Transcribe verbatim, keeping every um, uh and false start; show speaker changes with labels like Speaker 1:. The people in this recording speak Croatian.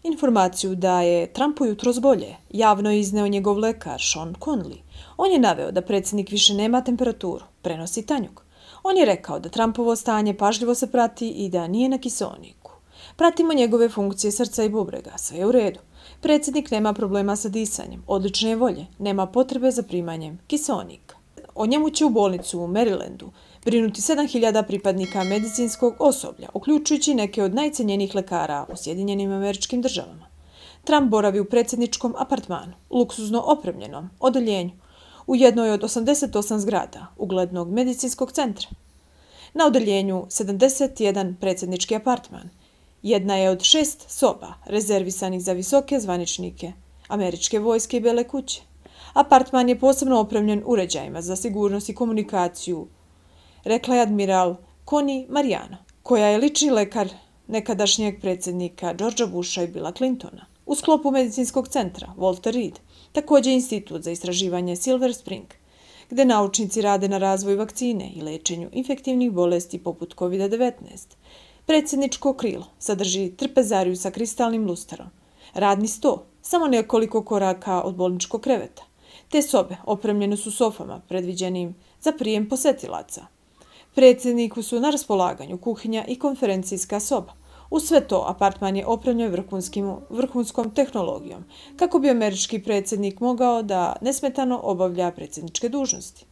Speaker 1: Informaciju da je Trumpu jutros bolje javno je izneo njegov lekar Sean Conley. On je naveo da predsjednik više nema temperaturu, prenosi tanjug. On je rekao da Trumpovo stanje pažljivo se prati i da nije na kiseoniku. Pratimo njegove funkcije srca i bubrega, sve je u redu. Predsjednik nema problema sa disanjem, odlične je volje, nema potrebe za primanjem kiseonika. O njemu će u bolnicu u Marylandu brinuti sedam hiljada pripadnika medicinskog osoblja, uključujući neke od najcenjenijih lekara u Sjedinjenim Američkim Državama. Trump boravi u predsjedničkom apartmanu, luksuzno opremljenom odeljenju, u jednoj od osamdeset osam zgrada uglednog medicinskog centra. Na odeljenju sedamdeset jedan predsjednički apartman. Jedna je od šest soba rezervisanih za visoke zvaničnike američke vojske i Bele kuće. Apartman je posebno opremljen uređajima za sigurnost i komunikaciju, rekla je admiral Connie Mariano, koja je lični lekar nekadašnjeg predsjednika Georgea Busha i Billa Clintona. U sklopu medicinskog centra Walter Reed, također Institut za istraživanje Silver Spring, gde naučnici rade na razvoju vakcine i lečenju infektivnih bolesti poput kovid devetnaest. Predsjedničko krilo sadrži trpezariju sa kristalnim lusterom, radni sto, samo nekoliko koraka od bolničkog kreveta. Te sobe opremljene su sofama predviđenim za prijem posetilaca. Predsjedniku su na raspolaganju kuhinja i konferencijska soba. Uz sve to, apartman je opremljen vrhunskom tehnologijom, kako bi američki predsjednik mogao da nesmetano obavlja predsjedničke dužnosti.